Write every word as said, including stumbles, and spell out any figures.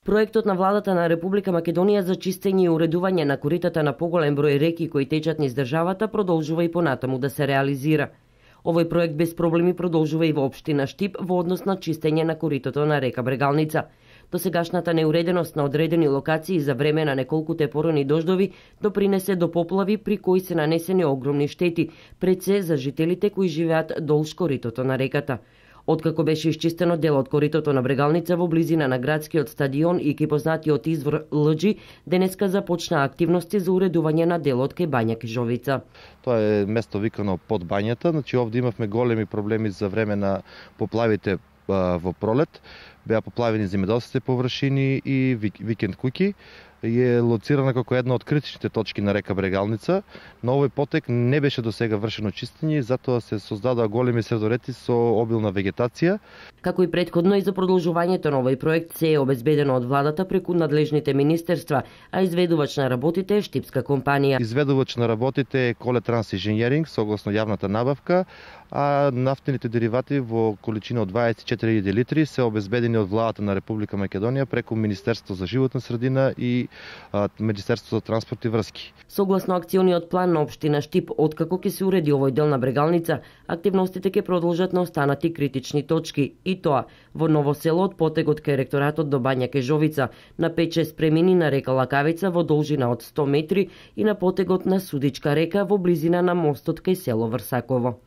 Проектот на владата на Република Македонија за чистење и уредување на коритата на поголем број реки кои течат низ државата продолжува и понатаму да се реализира. Овој проект без проблеми продолжува и во општина Штип во однос на чистење на коритото на река Брегалница. Досегашната неуреденост на одредени локации за време на неколку тепорни дождови допринесе до поплави при кои се нанесени огромни штети, пред се за жителите кои живеат долж коритото на реката. Откако беше исчистено дел од коритото на Брегалница во близина на градскиот стадион и ки познатиот извор Лџи, денеска започна активности за уредување на делот кај Бања Кежовица. Тоа е место викано под бањата, значи овде имавме големи проблеми за време на поплавите во пролет. Беа поплавени земјоделските површини и викенд куќи. Е лоцирана како една од критичните точки на река Брегалница. На овој потек не беше досега вршено чистење, затоа се создадоа големи средорети со обилна вегетација. Како и претходно и за продолжувањето на овој проект се е обезбедено од владата преку надлежните министерства, а изведувач на работите е штипска компанија. Изведувач на работите е Коле Транс Инженеринг согласно јавната набавка, а нафтените деривати во количина од дваесет и четири илјади литри се обезбедени од владата на Република Македонија преку Министерството за животна средина и а, Министерството за транспорт и врски. Согласно акциониот план на општина Штип, откако ќе се уреди овој дел на Брегалница, активностите ќе продолжат на останати критични точки, и тоа во Ново село од потегот кај ректоратот до Бања Кежовица, на пет-шест премини на река Лакавица во должина од сто метри и на потегот на Судичка река во близина на мостот кај село Врсаково.